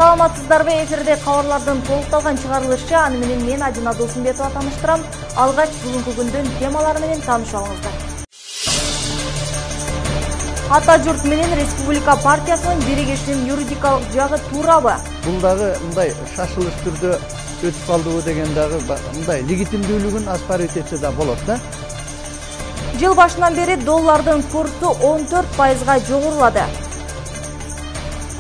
Саламатсыздарбы, эфирде кабарлардын толукталган чыгарылышы. Аны менен мен Адина Досумбетова тааныштырам. Алгач бүгүнкү күндүн темалары менен таанышып алыңыздар. Ата журт менен Республика партиясынын биригишинин юридикалык жагы туурабы? Бул дагы мындай шашылыш түрдө өтүп калдыбы деген дагы мындай легитимдүүлүгүн аскарып этсе да болот да. Жыл башынан бери доллардын курсу 14%га жогорулады.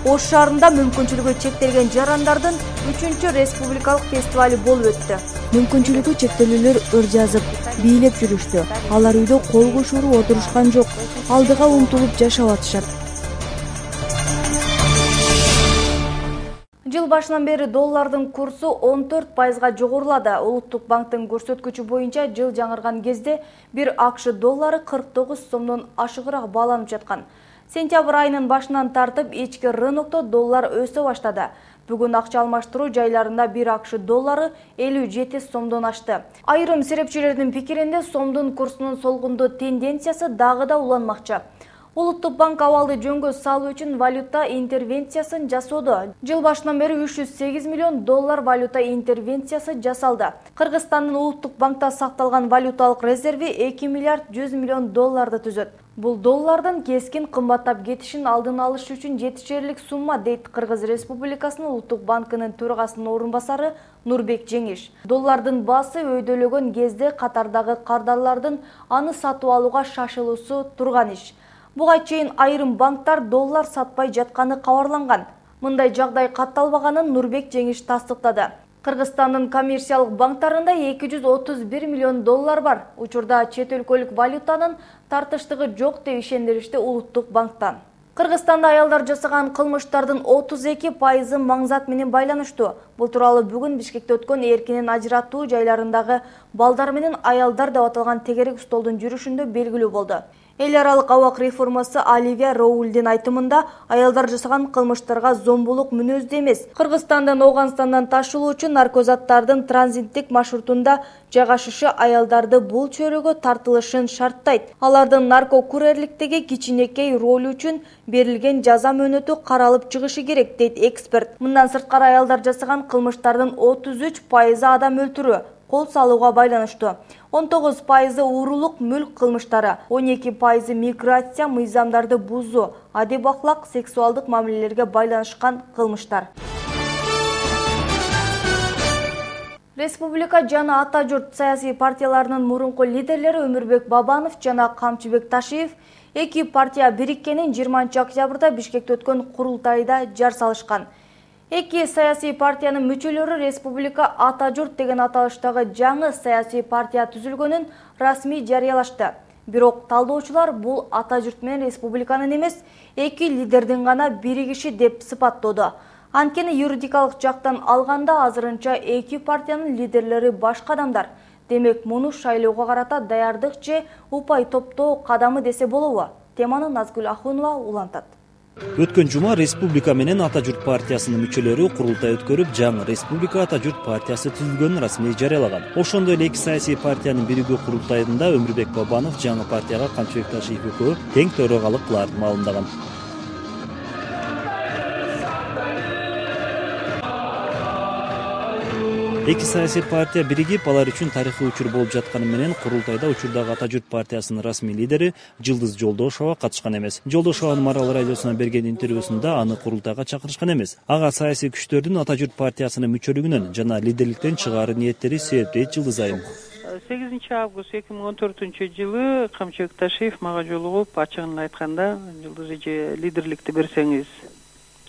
Ош шаарында мүмкүнчүлүгү чектелген жарандардын 3-чү республикалык фестивали болуп өттү. Мүмкүнчүлүгү чектелүүлөр өр жазып, бийлеп жүрүштү. Алар үйдө кол кошууну отурушкан жок, алдыга умтулуп жашап атышат. Жыл башынан бери доллардын курсу 14%га жогорулады. Улуттук банктын көрсөткүчү боюнча жыл жаңырган кезде 1 АКШ доллары 49 сомдон ашыгыраак бааланып жаткан. Сентябрь айынын башынан тартып ички рынокто доллар өсө баштады. Бүгүн акча алмаштыруу жайларында 1 АКШ доллары 57 сомдон ашты. Айрым серепчилердин пикиринде сомдун курсунун солгундоо тенденциясы дагы да уланмакчы. Улуттук банк абалды жөнгө салуу үчүн валюта интервенциясын жасоодо. Жыл башынан бери 308 миллион доллар валюта интервенциясы жасалды. Кыргызстандын улуттук банкта сакталган валюталык резерви 2 миллиард 100 миллион долларды түзөт. Бул доллардын кескин кымбаттап кетишин алдын алыш үчүн жетишерлик сумма, дейт Кыргыз Республикасынын улуттук банкынын төрагасынын орун басары Нурбек Жеңиш. Доллардын баасы өйдөлөгөн кезде катардагы кардарлардын аны сатып алууга шашылуусу турган иш. Буга чейин айрым банктар доллар сатпай жатканы кабарланган. Мындай жагдай катталбаганын Нурбек Жеңиш тастыктады. Кыргызстандын коммерциялык банктарында 231 миллион доллар бар. Учурда чет өлкөлүк валютанын тартыштыгы жок деп ишендиришти улуттук банктан. Кыргызстанда аялдар жасаган кылмыштардын 32% маңзат менен байланыштуу. Бул тууралуу бүгүн Бишкекте өткөн эркинен ажыратуу жайларындагы балдар менен аялдар деп аталган тегерек столдун жүрүшүндө белгилүү болду. Эл аралык абак реформасы Оливия Роулдин айтымында аялдар жасаган кылмыштарга зомбулук мүнөздүү эмес. Кыргызстандан Ооганстандан ташылуу үчүн наркозаттардын транзиттик маршрутунда жайгашышы аялдарды бул чөйрөгө тартылышын шарттайт. Алардын наркокурьерликтеги кичинекей ролу үчүн берилген жаза мөөнөтү каралып чыгышы керек, дейт эксперт. Мындан сырткары аялдар жасаган кылмыштардын 33% адам өлтүрүү, кол салууга байланыштуу. 19% уурулук мүлк кылмыштары, 12% миграция, мыйзамдарды бузуу, адеп ахлак, сексуалдык мамилелерге байланышкан кылмыштар. Республика жана Ата журт саясий партияларынын мурунку лидерлери Өмүрбек Бабанов жана Камчыбек Ташиев эки партия бириккенин 20-октябрда Бишкекте өткөн курултайда жар салышкан. Эки саясий партиянын мүчөлөрү Республика Ата журт деген аталыштагы жаңы саясий партия түзүлгөнүн расмий жарыялашты. Бирок талдоочулар бул Ата журт менен республиканын эмес, эки лидердин гана биригиши деп сыпаттоодо. Анткени юридикалык жактан алганда азырынча эки партиянын лидерлери башка адамдар. Демек, муну шайлоого карата даярдык же упай топтоо кадамы десе болобу? Теманы Назгүл Ахунова улантат. Өткөн жума Республика менен Ата журт партиясынын мүчөлөрү курултай өткөрүп, жаңы Республика Ата журт партиясы түзүлгөнүн расмий жарыялаган. Ошондой эле эки саясий партиянын биригүү курултайында Өмүрбек Бабанов жаңы партияга Камчыбек Ташиев экөө тең төрагалык кыларын маалымдаган. Эки саясий партия биригип, алар үчүн тарыхый учур болуп жатканы менен курултайда учурдагы Ата журт партиясынын расмий лидери Жылдыз Жолдошова катышкан эмес. Жолдошованын Марал радиосуна берген интервьюсунда аны курултайга чакырышкан эмес. Ага саясий күчтөрдүн Ата журт партиясынын мүчөлүгүнөн жана лидерликтен чыгаары ниеттери себеп, дейт Жылдыз айым. 8-август 2014-жылы Камчыбек Ташиев мага жолугуп, ачыгын айтканда, Жылдыз эже лидерликти берсеңиз,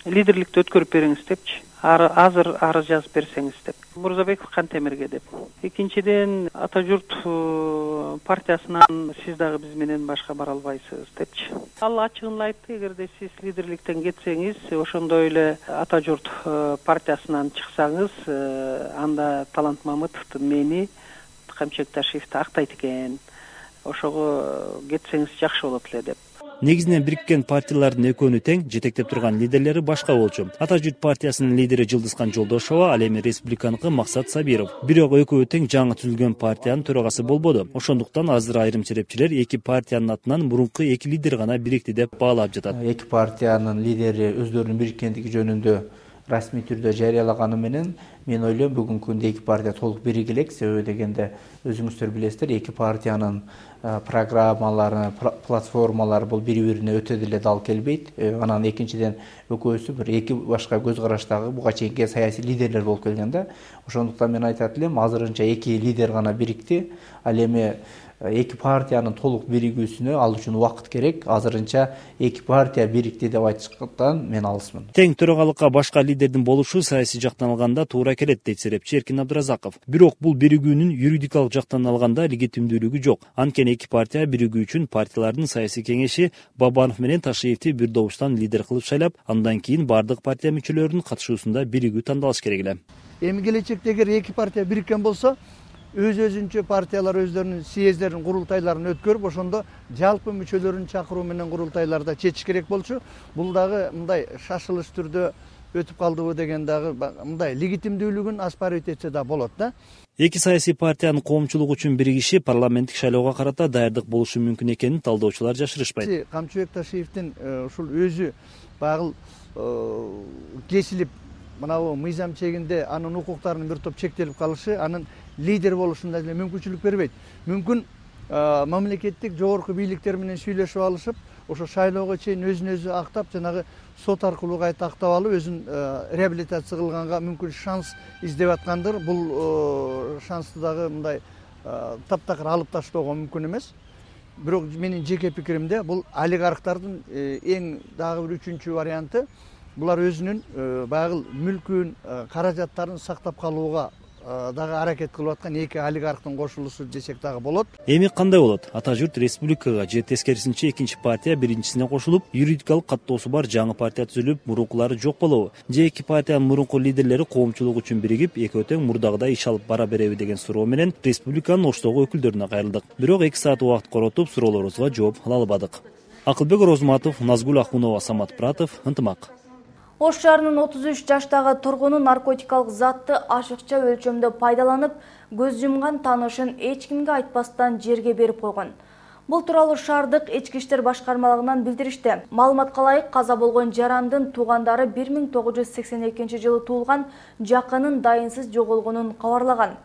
лидерликти өткөрүп бериңиз депчи. Азыр арыз жазып берсеңиз деп. Мурзабеков Кантемирге деп. Экинчиден, Ата журт партиясынан сиз дагы биз менен башка бара албайсыз депчи. Ал ачыгын айтты, эгерде сиз лидерликтен кетсеңиз, ошондой эле Ата журт партиясынан чыксаңыз, анда Талант Мамытов мени, Камчыбек Ташиевди актайт экен. Ошого кетсеңиз жакшы болот эле деп. Негизинен бириккен партиялардын экөөнү тең жетектеп турган лидерлери башка болчу. Ата журт партиясынын лидери Жылдызхан Жолдошова, ал эми республиканыкы Максат Сабиров. Бирок экөө тең жаңы түзүлгөн партиянын төрагасы болбоду. Ошондуктан азыр айрым серепчилер эки партиянын атынан мурунку эки лидер гана бирикти деп баалап жатат. Эки партиянын лидери өздөрүнүн бириккендиги жөнүндө расмий түрдө жарыялаганы менен мен ойлойм бүгүнкү күндө эки партия толук бириге элек. Себеби дегенде өзүңүздөр билесиздер, эки партиянын программалары, платформалары бул бири-бирине өтө деле дал келбейт. Анан экинчиден экөөсү бир эки башка көз караштагы буга чейинки саясий лидерлер болуп келген да. Ошондуктан мен айтат элем, азырынча эки лидер гана бирикти. Ал эми эки партиянын толук биригүүсүнө ал үчүн убакыт керек. Азырынча эки партия бирикти деп айтышкан мен алысмын. Тең төрагалыкка башка лидердин болушу саясий жактан алганда туура келет, дейт серепчи Эркин Абдыразаков. Бирок бул биригүүнүн юридикалык жактан алганда легитимдүүлүгү жок. Анткени эки партия биригүү үчүн партиялардын саясий кеңеши Бабанов менен Ташиевди бир добуштан лидер кылып шайлап, андан кийин бардык партия мүчөлөрүнүн катышуусунда биригүү тандалыш керек эле. Эми келечекте эгер эки партия бириккен болсо, өзүнчө партиялар өздөрүнүн съездерин, курултайларын өткөрүп, ошондо жалпы мүчөлөрүн чакыруу менен курултайларда чечиш керек болчу. Бул дагы мындай шашылыш түрдө өтүп калдыбы деген дагы мындай легитимдүүлүгүн аспарить этсе да болот да. Эки саясий партиянын коомчулук үчүн биригиши парламенттик шайлоого карата даярдык болушу мүмкүн экенин талдоочулар жашырышпайт. Камчыбек Ташиевдин ушул өзү багыл кесилип, мынабу мыйзам чегинде анын укуктарынын бир топ чектелип калышы анын лидер болушунда деле мүмкүнчүлүк бербейт. Мүмкүн мамлекеттик жогорку бийликтер менен сүйлөшүп алышып, ошо шайлоого чейин өзүн өзү актап, жанагы сот аркылуу кайта актап алып, өзүн реабилитация кылганга мүмкүн шанс издеп аткандыр. Бул шансты дагы мындай таптакыр алып таштоого мүмкүн эмес. Бирок менин жеке пикиримде бул олигархтардын эң дагы бир үчүнчү варианты. Булар өзүнүн багыл мүлкүн, каражаттарын сактап калууга дагы аракет кылып аткан эки олигархтын кошулуусу десек дагы болот. Эми кандай болот? Ата журт республикага же тескерисинче экинчи партия биринчисине кошулуп, юридикалык каттоосу бар жаңы партия түзүлүп, мурункулары жок болобу? Же эки партиянын мурунку лидерлери коомчулук үчүн биригип, экөө тең мурдагыдай иш алып бара береби деген суроо менен республиканын Оштогу өкүлдөрүнө кайрылдык. Бирок 2 саат убакыт коротуп, суроолорубузга жооп ала албадык. Акылбек Орозматов, Назгүл Ахунова, Самат Пратов, Ынтымак. Ош шаарынын 33 жаштагы тургуну наркотикалык затты ашыкча өлчөмдө пайдаланып, көз жумган таанышын эч кимге айтпастан жерге берип койгон. Бул тууралуу шаардык ички иштер башкармалыгынан билдиришти. Маалыматка ылайык, каза болгон жарандын туугандары 1982-жылы туулган жакынын дайынсыз жоголгонун кабарлаган.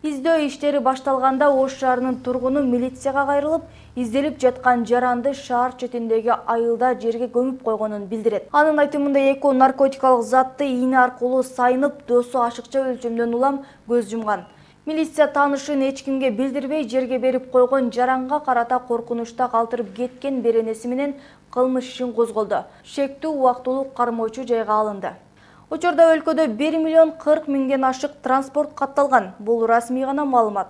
Издөө иштери башталганда Ош шаарынын тургуну милицияга кайрылып, изделип жаткан жаранды шаар четиндеги айылда жерге көмүп койгонун билдирет. Анын айтымында экөө наркотикалык затты ийне аркылуу сайынып, досу ашыкча өлчөмдөн улам көз жумган. Милиция таанышын эч кимге билдирбей жерге берип койгон жаранга карата коркунучта калтырып кеткен беренеси менен кылмыш ишин козголду. Шектүү убактылуу кармоочу жайга алынды. Учурда өлкөдө 1,40,000 ашык транспорт катталган. Бул расмий гана маалымат.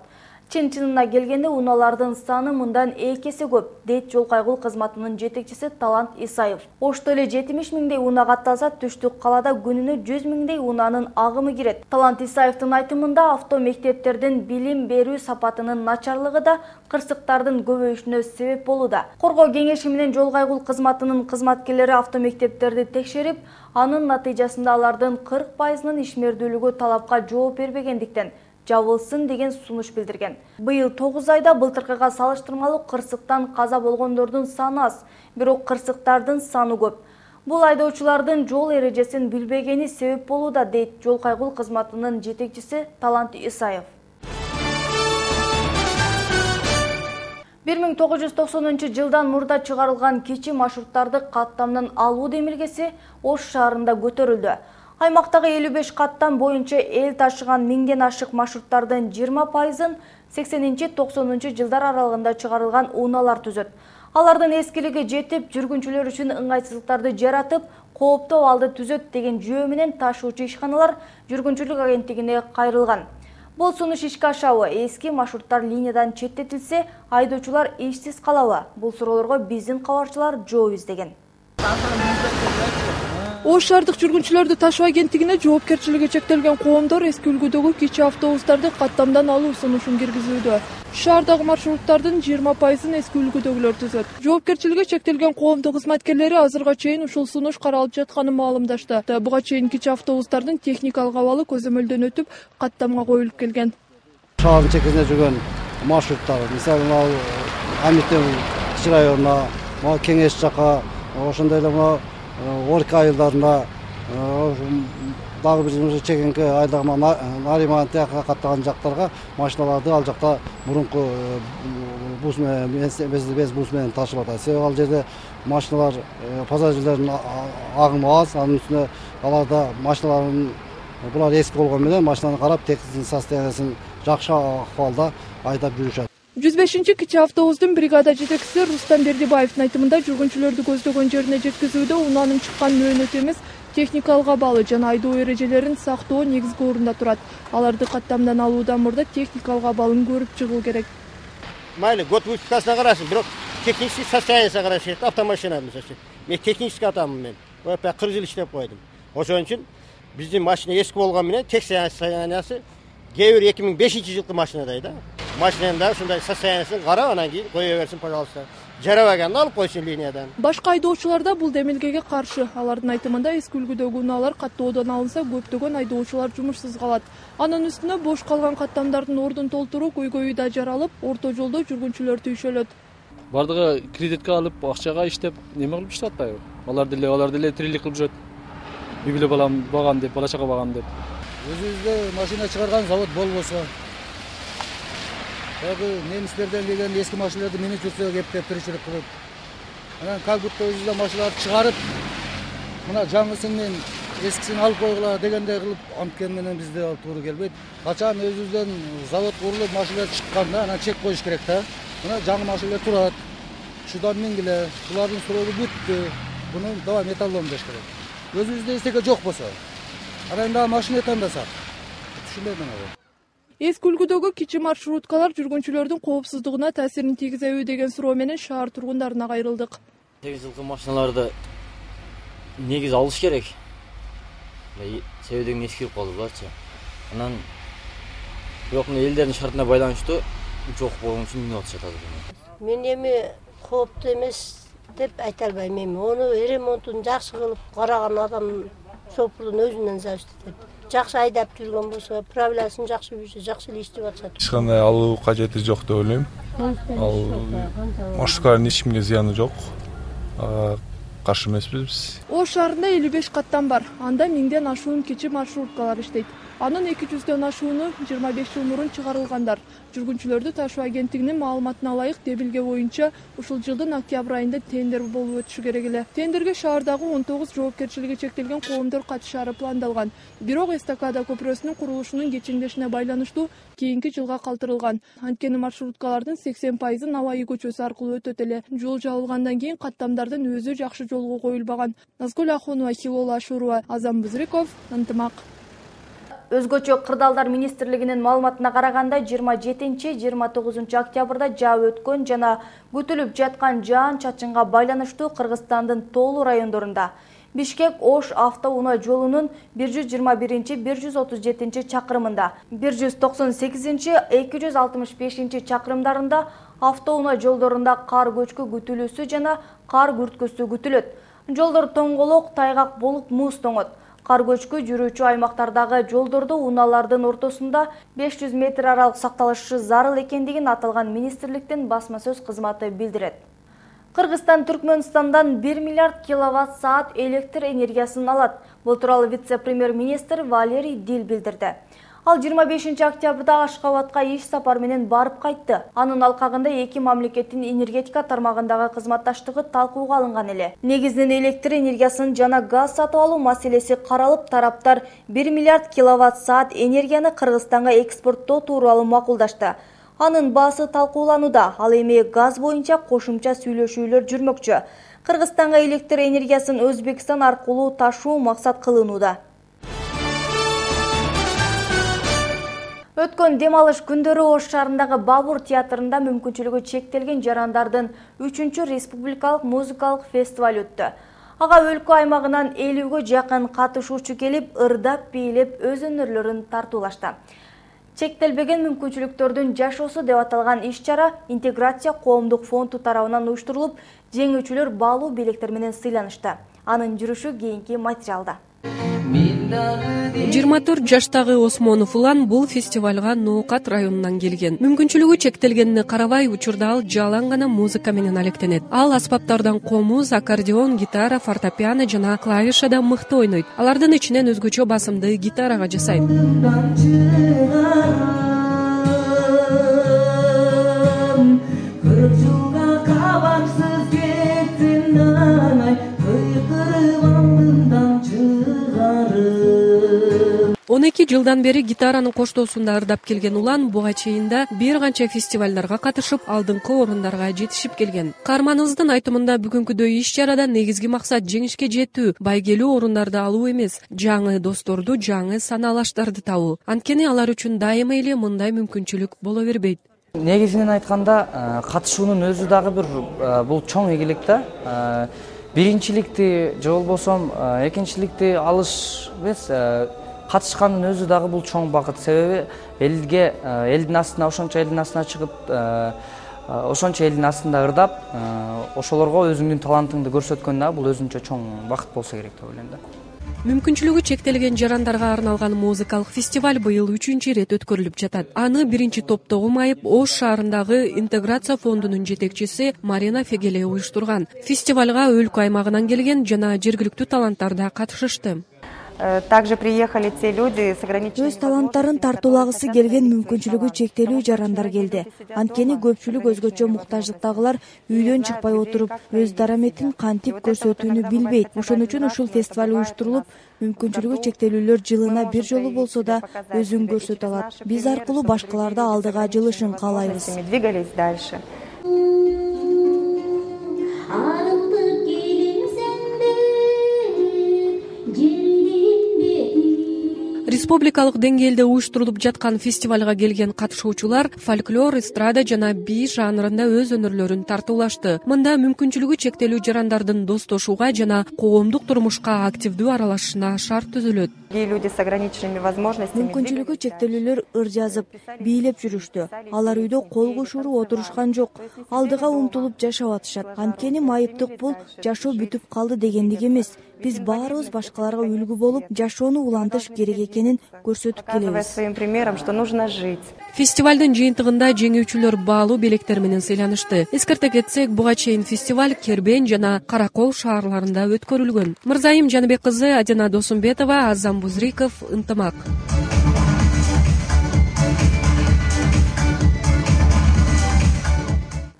Чын-чынына келгенде унаалардын саны мындан 2 эсе көп, дейт жол кайгыл кызматынын жетекчиси Талант Исаев. Ошто эле 70 миңдей унаа катталса, түштүк калаада күнүнө 100 миңдей унаанын агымы кирет. Талант Исаевдин айтымында авто мектептердин билим берүү сапатынын начарлыгы да кырсыктардын көбөйүшүнө себеп болууда. Коргоо кеңеши менен жол кайгыл кызматынын кызматкерлери авто мектептерди текшерип, анын натыйжасында алардын 40%-нын ишмердүүлүгү талапка жооп бербегендиктен жабылсын деген сунуш билдирген. Быйыл 9 айда былтыркыга салыштырмалуу кырсыктан каза болгондордун саны аз, бирок кырсыктардын саны көп. Бул айдоочулардын жол эрежесин билбегени себеп болууда, дейт жол кайгыл кызматынын жетекчиси Талант Исаев. 1990-жылдан мурда чыгарылган кичи маршруттарды каттамдан алуу демилгеси Ош шаарында көтөрүлдү. Аймактагы 55 каттам боюнча эл ташыган 1000ден ашык маршруттардын 20%-ын 80-90 жылдар аралыгында чыгарылган унаалар түзөт. Алардын эскилиги жетип, жүргүнчүлөр үчүн ыңгайсыздыктарды жаратып, кооптуу абалды түзөт деген жөө менен ташуучу ишканалар жүргүнчүлүк агенттигине кайрылган. Бул сунуш ишке ашабы? Эски маршруттар линиядан четтетилсе, айдоочулар ишсиз калабы? Бул суроолорго биздин кабарчылар жооп издеген. Ош шаардык жүргүнчүлөрдү ташуу агенттигине жоопкерчилиги чектелген коомдор эски үлгүдөгү кичи автобустарды каттамдан алуу сунушун киргизүүдө. Шаардагы маршруттардын 20%-ын эски үлгүдөгүлөр түзөт. Жоопкерчилиги чектелген коомдук кызматкерлери азырга чейин ушул сунуш каралып жатканын маалымдашты. Буга чейин кичи автобустардын техникалык абалы көзөмөлдөн өтүп, каттамга коюлуп келген. Шаардын чекесинде жүргөн маршруттар, мисалы, Амиттен районуна, Кеңеш жака, ошондой эле Орка айылдарына дагы бир чегинки айдагы Нариман тияка каттаган жактарга машиналарды ал жакта мурунку бус без бус менен ташып атат. Себеби ал жерде машиналар пассажирлердин агымы аз, анын үстүнө аларда машиналардын булар эски болгон менен машинаны карап техник состояниясын жакшы акыбалда айдап жүрүшөт. 105 кичи автобустун бригада жетекчиси Рустам Бердибаевдин айтымында жүргүнчүлөрдү көздөгөн жерине жеткизүүдө унаанын чыккан мөөнөтү эмес, техникалык абалы жана айдоо эрежелерин сактоо негизги орунда турат. Аларды каттамдан алуудан мурда техникалык абалын көрүп чыгуу керек. Майли год выпускасына карасын, бирок технический состояниясына караш керек. Автомашина мисалы. Мен технический атамын мен. 40 жыл иштеп койдум. Ошон үчүн биздин машина эски болгон менен техник состояниясы кээ бир 2005-жылкы машинадай да. Машинанын да ушундай состояниясын карап, анан кийин кое берсин, пожалуйста. Жарабаганды алып койсун линиядан. Башка айдоочулар да бул демилгеге каршы. Алардын айтымында эски үлгүдөгү унаалар каттоодон алынса, көптөгөн айдоочулар жумушсуз калат. Анын үстүнө бош калган каттамдардын ордун толтуруу көйгөйү да жаралып, орто жолдо жүргүнчүлөр түйшөлөт. Бардыгы кредитке алып, акчага иштеп, неме кылып иштеп атпайбы? Алар деле тирилик кылып жүрөт. Үй бүлө балам багам деп, бала чага багам деп. Өзүбүздө машина чыгарган завод болбосо, немистерден келген эски машиналарды минип жүрсө кептеп тиричилик кылып, анан как будто өзүбүздө машиналарды чыгарып, мына жаңысын менен эскисин алып койгула дегендей кылып анткени менен бизде туура келбейт. Качан өзүбүздөн завод курулуп машиналар чыкканда анан чек коюш керек да. Мына жаңы машиналар турат. Шудан мингиле, булардын сроогу бүттү. Буну давай металлон деш керек. Өзүбүздө эстеке жок болсо, анан дагы машина тандасак. Түшүнбөйм мен. Эски үлгүдөгү кичи маршруткалар жүргүнчүлөрдүн коопсуздугуна таасирин тийгизеби деген суроо менен шаар тургундарына кайрылдык. 8 жылкы машиналарды негиз алыш керек. Себебин эскирип калды буларчы. Анан бирок элдердин шартына байланыштуу жок болгон үчүн минип атышат азыр. Мен эми кооптуу эмес деп айта албайм эми. Ону ремонтун жакшы кылып караган адам шофёрдун өзүнөн зависит этет. Жакшы айдап жүргөн болсо, правиласын жакшы билсе, жакшы эле иштеп атышат. Эч кандай алуу кажети жок деп ойлойм. Ал маршруткалардын эч кимге зыяны жок. Каршы эмеспиз биз. Ош шаарында 55 каттам бар. Анда 1000ден ашуун кичи маршруткалар иштейт. Анын 200дөн ашууну 25 жыл мурун чыгарылгандар. Жүргүнчүлөрдү ташуу агенттигинин маалыматына ылайык демилге боюнча ушул жылдын октябрь айында тендер болуп өтүшү керек эле. Тендерге шаардагы 19 жоопкерчилиги чектелген коомдор катышаары пландалган. Бирок эстакада көпүрөсүнүн курулушунун кечиңдешине байланыштуу кийинки жылга калтырылган. Анткени маршруткалардын 80% Наваи көчөсү аркылуу өтөт эле. Жол жабылгандан кийин каттамдардын өзү жакшы жолго коюлбаган. Назгүл Ахунова, Хилола Ашурова, Азам Бузриков, Ынтымак. Өзгөчө кырдаалдар министрлигинин маалыматына караганда 27-29 октябрда жаап өткөн жана күтүлүп жаткан жаан-чачынга байланыштуу Кыргызстандын тоолуу райондорунда Бишкек-Ош автоунаа жолунун 121-137 чакырымында, 198-265 чакырымдарында автоунаа жолдорунда кар көчкү күтүлүүсү жана кар күрткүсү күтүлөт. Жолдор тоңголок, тайгак болуп муз тоңот. Кар көчкү жүрүүчү аймактардагы жолдордо унаалардын ортосунда 500 метр аралык сакталышы зарыл экендигин аталган министрликтин басма сөз кызматы билдирет. Кыргызстан Түркмөнстандан 1 миллиард киловатт-саат электр энергиясын алат. Бул тууралуу вице-премьер-министр Валерий Дил билдирди. Ал 25 октябрда Ашкабадка иш сапар менен барып кайтты. Анын алкагында эки мамлекеттин энергетика тармагындагы кызматташтыгы талкууга алынган эле. Негизинен электр энергиясын жана газ сатып алуу маселеси каралып, тараптар 1 миллиард киловатт-саат энергияны Кыргызстанга экспорттоо тууралуу макулдашты. Анын баасы талкууланууда. Ал эми газ боюнча кошумча сүйлөшүүлөр жүрмөкчү. Кыргызстанга электр энергиясын Өзбекстан аркылуу ташуу максат кылынууда. Өткөн дем алыш күндөрү Ош шаарындагы Бабур театрында мүмкүнчүлүгү чектелген жарандардын 3-чү республикалык музыкалык фестиваль өттү. Ага өлкө аймагынан 50ге жакын катышуучу келип, ырдап, бийлеп, өз өнөрлөрүн тартуулашты. Чектелбеген мүмкүнчүлүктөрдүн жашоосу деп аталган иш-чара Интеграция коомдук фонду тарабынан уюштурулуп, жеңүүчүлөр баалуу белектер менен сыйланышты. Анын жүрүшү кийинки материалда. 24 жаштагы Осмонов Улан бул фестивалга Ноокат районунан келген. Мүмкүнчүлүгү чектелгенине карабай, учурда ал жалаң гана музыка менен алектенет. Ал аспаптардан комуз, аккордеон, гитара, фортепиано жана клавишада мыкты ойнойт. Алардын ичинен өзгөчө басымды гитарага жасайт. Он 2 жылдан бери гитаранын коштоосунда ырдап келген Улан буга чейин да бир канча фестивалдарга катышып, алдыңкы орундарга жетишип келген. Каарманыбыздын айтымында бүгүнкүдөй иш-чарада негизги максат жеңишке жетүү, байгелүү орундарды алуу эмес, жаңы досторду, жаңы санаалаштарды табуу. Анткени алар үчүн дайыма эле мындай мүмкүнчүлүк боло бербейт. Негизинен айтканда, катышуунун өзү дагы бир бул чоң ийгилик да. Биринчиликти же болбосо экинчиликти алыш эмес, катышкандын өзү дагы бул чоң бакыт. Себеби элдин астына ошончо элдин астына чыгып, ошончо элдин астында ырдап, ошолорго өзүңдүн талантыңды көрсөткөн дагы бул өзүнчө чоң бакыт болсо керек деп ойлойм да. Мүмкүнчүлүгү чектелген жарандарга арналган музыкалык фестиваль быйыл 3-чү ирет өткөрүлүп жатат. Аны биринчи топтогу майып Ош шаарындагы Интеграция фондунун жетекчиси Марина Фегеле уюштурган. Фестивалга өлкө аймагынан келген жана жергиликтүү таланттар да катышышты. Также приехали те люди с ограниченными. Өз таланттарын тартуулагысы келген мүмкүнчүлүгү чектелүү жарандар келди. Анткени көпчүлүк өзгөчө муктаждыктагылар үйдөн чыкпай отуруп, өз дараметин кантип көрсөтүүнү билбейт. Ошон үчүн ушул фестиваль уюштурулуп, мүмкүнчүлүгү чектелүүлөр жылына бир жолу болсо да өзүн көрсөтө алат. Биз аркылуу башкаларда алдыга жылышын каалайбыз. Двигались дальше. Республикалык деңгээлде уюштурулуп жаткан фестивалга келген катышуучулар фольклор, эстрада жана би жанрында өз өнөрлөрүн тартуулашты. Мында мүмкүнчүлүгү чектелүү жарандардын достошууга жана коомдук турмушка активдүү аралашышына шарт түзүлөт. Люди с ограниченными возможностями. Мүмкүнчүлүгү чектелүүлөр ыр жазып, бийлеп жүрүштү. Алар үйдө кол кушуруу отурушкан жок. Алдыга умтулуп жашап атышат. Анткени майыптык бул жашоо бүтүп калды дегендик эмес. Биз баарыбыз башкаларга үлгү болуп, жашоону улантыш керек экенин көрсөтүп келебиз. Своим примером, что нужно жить. Фестивалдын жыйынтыгында жеңүүчүлөр баалуу белектер менен сыйланышты. Эскерте кетсек, буга чейин фестиваль Кербен жана Каракол шаарларында өткөрүлгөн. Мырзайым Жаныбек кызы, Адина Досумбетова, Азам Бузриков, Ынтымак.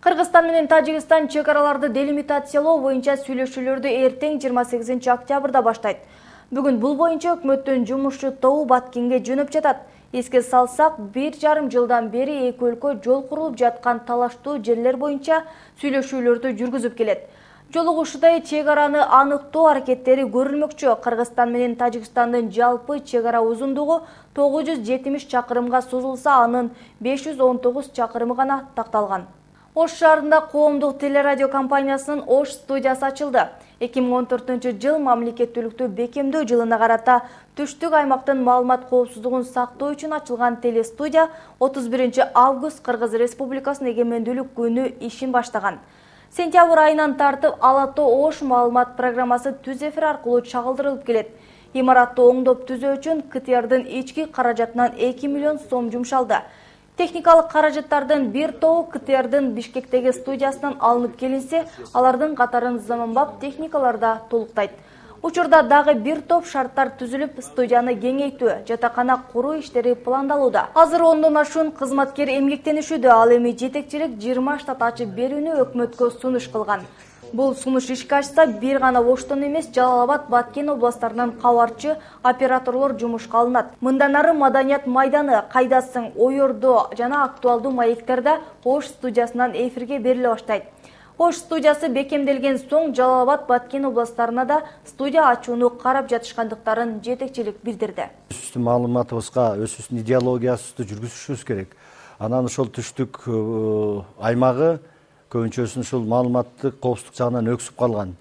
Кыргызстан менен Тажикстан чек араларды делимитациялоо боюнча сүйлөшүүлөрдү эртең 28 октябрда баштайт. Бүгүн бул боюнча өкмөттүн жумушчу тобу Баткенге жөнөп жатат. Эске салсак, 1,5 жылдан бери эки өлкө жол курулуп жаткан талаштуу жерлер боюнча сүйлөшүүлөрдү жүргүзүп келет. Жолугушуудай чек араны аныктоо аракеттери көрүлмөкчү. Кыргызстан менен Тажикстандын жалпы чек ара узундугу 970 чакырымга созулса, анын 519 чакырымы гана такталган. Ош шаарында коомдук телерадио компаниясынын Ош студиясы ачылды. 2014 жыл мамлекеттүүлүктү бекемдөө жылына карата түштүк аймактын маалымат коопсуздугун сактоо үчүн ачылган телестудия 31 август Кыргыз Республикасынын эгемендүүлүк күнү ишин баштаган. Сентябрь айынан тартып Ала Тоо Ош маалымат программасы түз эфир аркылуу чагылдырылып келет. Имаратты оңдоп түзөө үчүн КТРдын ички каражатынан 2 миллион сом жумшалды. Техникалык каражаттардын бир тобу КТРдын Бишкектеги студиясынан алынып келинсе, алардын катарын заманбап техникалар да толуктайт. Учурда дагы бир топ шарттар түзүлүп, студияны кеңейтүү, жатакана куруу иштери пландалууда. Азыр 10дон ашуун кызматкер эмгектенишүүдө, ал эми жетекчилик 20 штат ачып берүүнү өкмөткө сунуш кылган. Бул сунуш ишке ашса, бир гана Оштон эмес, Жалал-Абад, Баткен областарынан кабарчы операторлор жумушка алынат. Мындан ары Маданият майданы, Кайдасың, Ойордо жана актуалдуу маектерде Ош студиясынан эфирге бериле баштайт. Ош студиясы бекемделген соң Жалал-Абад, Баткен областарына да студия ачууну карап жатышкандыктарын жетекчилик билдирди. Өзүбүздүн маалыматыбызга, өзүбүздүн идеологиясыбызды жүргүзүшүбүз керек. Анан ошол түштүк аймагы көбүнчөсүн ушул маалыматтык коопсуздук жагынан өксүп калган.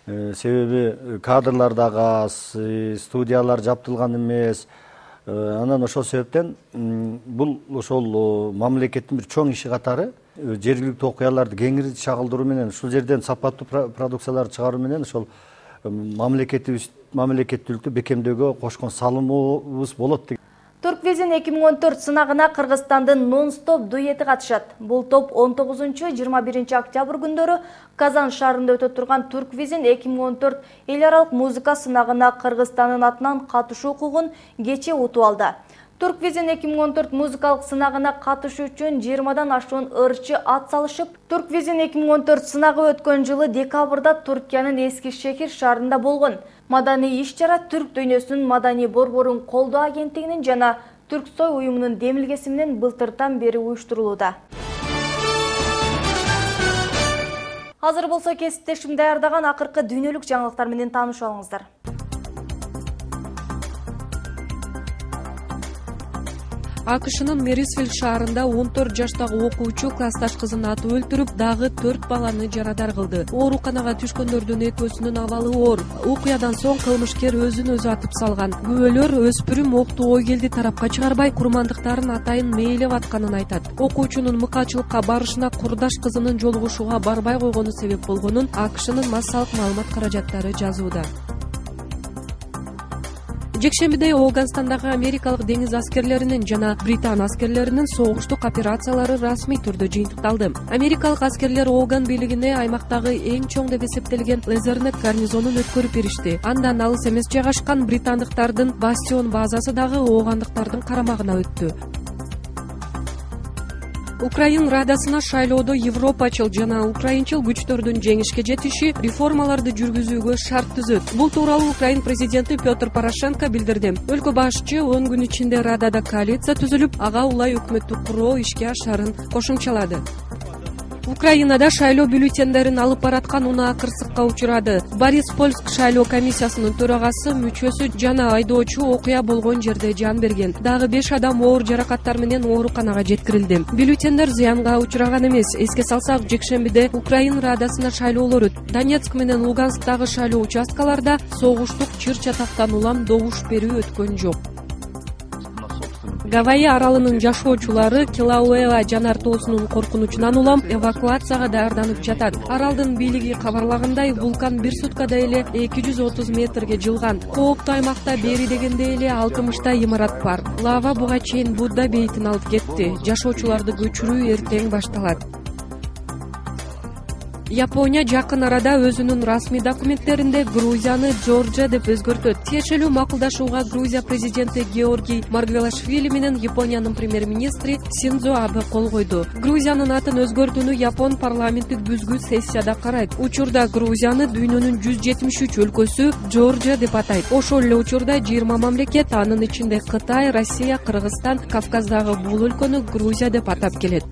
Себеби кадрлар дагы аз, студиялар жаптылган эмес. Анан ошол себептен бул ошол мамлекеттин бир чоң иши катары жергиликтүү окуяларды кеңири чагылдыруу менен, ушул жерден сапаттуу продукцияларды чыгаруу менен ошол мамлекетибиздин мамлекеттүүлүктү бекемдөөгө кошкон салымыбыз болот деген. Турквизин 2014 сынагына Кыргызстандын нон-стоп дуэти катышат. Бул топ 19-21 октябрь күндөрү Казан шаарында өтө турган Турквизин 2014 эл аралык музыка сынагына Кыргызстандын атынан катышуу укугун кечээ утуп алды. Турквизин 2014 музыкалык сынагына катышуу үчүн 20дан ашуун ырчы ат салышып, Турквизин 2014 сынагы өткөн жылы декабрда Туркиянын Эски-Шехир шаарында болгон. Маданий иш-чара түрк дүйнөсүнүн маданий борборун колдоо агенттигинин жана Түрксой уюмунун демилгеси менен былтыртан бери уюштурулууда. Азыр болсо кесиптешим даярдаган акыркы дүйнөлүк жаңылыктар менен таанышып алыңыздар. АКШнын Мерисвилл шаарында 14 жаштагы окуучу классташ кызын атып өлтүрүп, дагы 4 баланы жарадар кылды. Ооруканага түшкөндөрдүн экөөсүнүн абалы оор. Окуядан соң кылмышкер өзүн өзү атып салган. Күбөлөр өспүрүм окту ой келди тарапка чыгарбай, курмандыктарын атайын мээлеп атканын айтат. Окуучунун мыкаачылыкка барышына курдаш кызынын жолугушууга барбай койгону себеп болгонун АКШнын массалык маалымат каражаттары жазууда. Жекшембиде Афганистандагы америкалык деңиз аскерлеринин жана Британ аскерлеринин согуштук операциялары расмий түрдө жыйынтыкталды. Америкалык аскерлер Афган бийлигине аймактагы эң чоң деп эсептелген Лезернет гарнизонун өткөрүп беришти. Андан алыс эмес жайгашкан британдыктардын Бастион базасы дагы афгандыктардын карамагына өттү. Украин Радасына шайлоодо европачыл жана украинчыл күчтөрдүн жеңишке жетиши реформаларды жүргүзүүгө шарт түзөт. Бул тууралуу Украин президенти Петр Порошенко билдирди. Өлкө башчы 10 күн ичинде Радада коалиция түзүлүп, ага улай өкмөттү куруу ишке ашарын кошумчалады. Украинада шайлоо бюллетендерин алып бараткан унаа кырсыкка учурады. Бориспольск шайлоо комиссиясынын төрагасы, мүчөсү жана айдоочу окуя болгон жерде жан берген. Дагы 5 адам оор жаракаттар менен ооруканага жеткирилди. Бюллетендер зыянга учураган эмес. Эске салсак, жекшембиде Украин Радасына шайлоолор өттү. Донецк менен Лугансктагы шайлоо участкаларда согуштук чыр-чатактан улам добуш берүү өткөн жок. Гавайи аралынын жашоочулары Килауэа жанар тоосунун коркунучунан улам эвакуацияга даярданып жатат. Аралдын бийлиги кабарлагандай, вулкан бир суткада эле 230 метрге жылган. Кооптуу аймакта бери дегенде эле 60 имарат бар. Лава буга чейин Будда бейитин алып кетти. Жашоочуларды көчүрүү эртең башталат. Япония жакын арада өзүнүн расмий документтеринде Грузияны Жоржия деп өзгөртөт. Тиешелүү макулдашууга Грузия президенти Георгий Маргвелашвили менен Япониянын премьер-министри Синдзо Абе кол койду. Грузиянын атын өзгөртүүнү Япон парламенттик бүзгү сессияда карайт. Учурда Грузияны дүйнөнүн 173 өлкөсү Жоржия деп атайт. Ошол эле учурда 20 мамлекет, анын ичинде Кытай, Россия, Кыргызстан, Кавказдагы бул өлкөнү Грузия деп атап келет.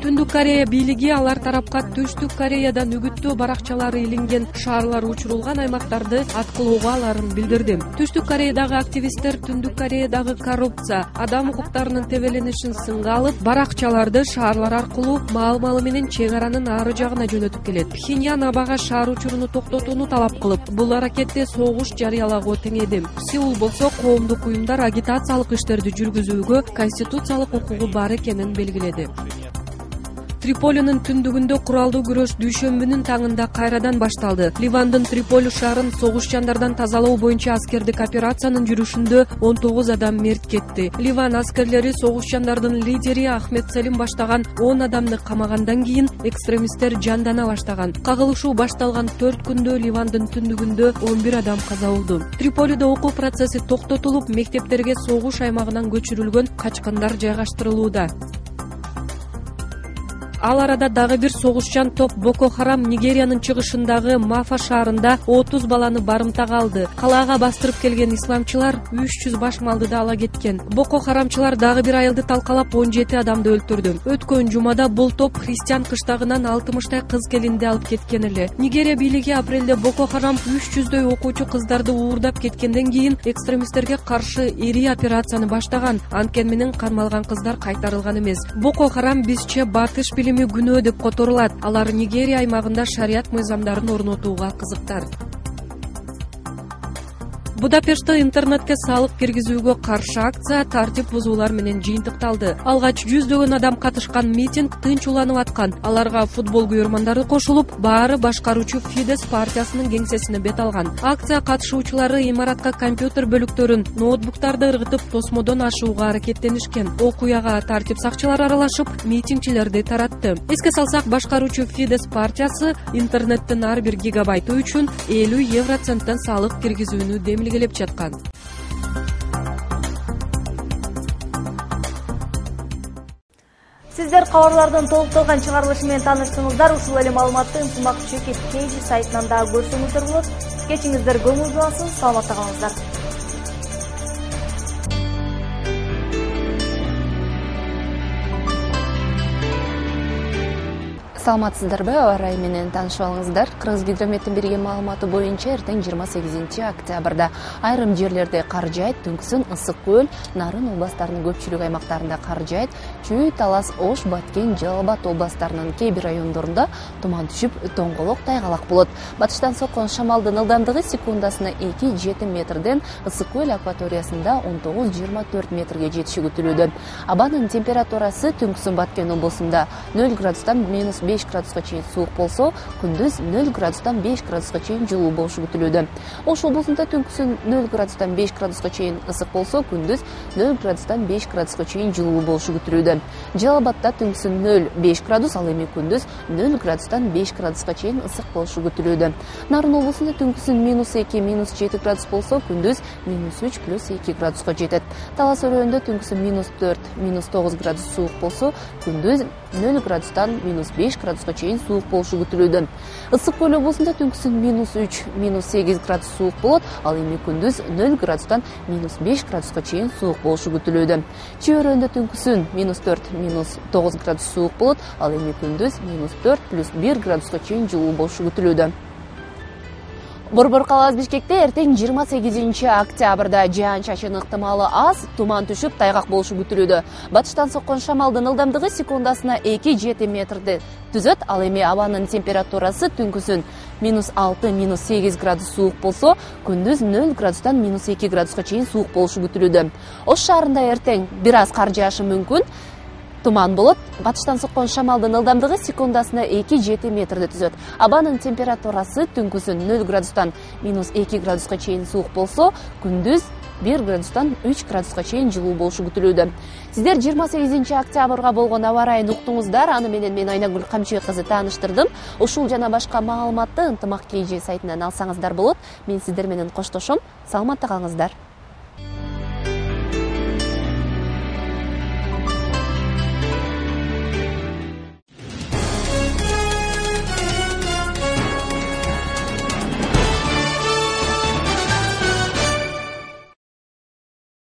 Түндүк Корея бийлиги алар тарапка Түштүк Кореядан үгүттөө баракчалары илинген шаарлар учурулган аймактарды аткылоого аларын билдирди. Түштүк Кореядагы активисттер Түндүк Кореядагы коррупция, адам укуктарынын тебеленишин сынга алып, баракчаларды шаарлар аркылуу маал-малы менен чек аранын ары жагына жөнөтүп келет. Пхеньян Абага шаар учуруну токтотууну талап кылып, бул аракетте согуш жарыялагуу теңеди. Сеул болсо коомдук уюмдар агитациялык иштерди жүргүзүүгө конституциялык укугу бар экенин белгиледи. Триполинин түндүгүндө куралдуу күрөш дүйшөмбүнүн таңында кайрадан башталды. Ливандын Триполи шаарын согушчандардан тазалоо боюнча аскердик операциянын жүрүшүндө 19 адам мерт кетти. Ливан аскерлери согушчандардын лидери Ахмед Селим баштаган 10 адамды камагандан кийин экстремисттер жандана баштаган. Кагылышуу башталган 4 күндө Ливандын түндүгүндө 11 адам каза болду. Триполиде окуу процесси токтотулуп, мектептерге согуш аймагынан көчүрүлгөн качкындар жайгаштырылууда. Ал арада дагы бир согушчан топ Боко Харам Нигериянын чыгышындагы Мафа шаарында 30 баланы барымтага алды. Калаага бастырып келген исламчылар 300 баш малды да ала кеткен. Боко Харамчылар дагы бир айылды талкалап 17 адамды өлтүрдү. Өткөн жумада бул топ христиан кыштагынан 60 кыз келинди алып кеткен эле. Нигерия бийлиги апрелде Боко Харам 300дөй окуучу кыздарды уурдап кеткенден кийин экстремисттерге каршы ири операцияны баштаган. Анткени менен кармалган кыздар кайтарылган эмес. Боко Харам бизче батыш күнөө деп которулат. Алар Нигерия аймагында шарият мыйзамдарын орнотууга кызыктар. Будапештте интернетке салык киргизүүгө каршы акция тартип бузуулар менен жыйынтыкталды. Алгач жүздөгөн адам катышкан митинг тынч уланып аткан. Аларга футбол күйөрмандары кошулуп, баары башкаруучу Фидес партиясынын кеңсесине бет алган. Акция катышуучулары имаратка компьютер бөлүктөрүн, ноутбуктарды ыргытып тосмодон ашууга аракеттенишкен. Окуяга тартип сакчылары аралашып, митингчилерди таратты. Эске салсак, башкаруучу Фидес партиясы интернеттин ар бир гигабайты үчүн 50 евроценттен салык киргизүүнү демилгелеп жаткан. Сиздер кабарлардын толукталган чыгарылышы менен тааныштыңыздар. Ушул эле маалыматты ынтымак чекит KG сайтынан да көрсөңүздөр болот. Кечиңиздер көңүл булсын, саламатта калыңыздар. Саламатсыздарбы? Аба ырайы менен таанышып алыңыздар. Кыргызгидрометтин берген маалыматы боюнча эртең 28 октябрда айрым жерлерде кар жаайт, түнкүсүн Ысык көл, Нарын областарынын көпчүлүк аймактарында кар жаайт, Чүй, Талас, Ош, Баткен, Жалал Абад областарынын кээ бир райондорунда туман түшүп, тоңголок, тайгалак болот. Батыштан соккон шамалдын ылдамдыгы секундасына 2-7 метрден Ысык көл акваториясында 19-24 метрге жетиши күтүлүүдө. Абанын температурасы түнкүсүн Баткен облусунда 0 градустан -5 градуска чейин суук болсо, күндүз 0 градустан 5 градуска чейин жылуу болушу күтүлүүдө. Ош облусунда түнкүсүн 0 градустан 5 градуска чейин ысык болсо, күндүз 0 градустан 5 градуска чейин жылуу болушу күтүлүүдө. Жалал Абадта түнкүсүн 0-5 градус, ал эми күндүз 0 градустан 5 градуска чейин ысык болушу күтүлүүдө. Нарын облусунда түнкүсүн -2-7 градус болсо, күндүз -3+2 градуска жетет. Талас өрөөнүндө түнкүсүн -4-9 градус суук болсо, күндүз 0 градустан -5 градуска чейин суук болушу күтүлүүдө. Ысык көл облусунда түнкүсүн -3-8 градус суук болот, ал эми күндүз 0 градустан -5 градуска чейин суук болушу күтүлүүдө. Чүй өрөөнүндө түнкүсүн -4-9 градус суук болот, ал эми күндүз -4+1 градуска чейин жылуу болушу күтүлүүдө. Борбор калабыз Бишкекте эртең 28 октябрда жаан-чачын ыктымалы аз, туман түшүп, тайгак болушу күтүлүүдө. Батыштан соккон шамалдын ылдамдыгы секундасына 2-7 метрди түзөт, ал эми абанын температурасы түнкүсүн -6-8 градус суук болсо, күндүз 0 градустан -2 градуска чейин суук болушу күтүлүүдө. Ош шаарында эртең бир аз кар жаашы мүмкүн. Туман болот. Батыштан соккон шамалдын ылдамдыгы секундасына 2-7 метрди түзөт. Абанын температурасы түнкүсүн 0 градустан -2 градуска чейин суук болсо, күндүз 1 градустан 3 градуска чейин жылуу болушу күтүлүүдө. Сиздер 28 октябрга болгон аба ырайын уктуңуздар. Аны менен мен Айнагүл Камчыбек кызы тааныштырдым. Ушул жана башка маалыматты ынтымак KG сайтынан алсаңыздар болот. Мен сиздер менен коштошом. Саламатта калыңыздар.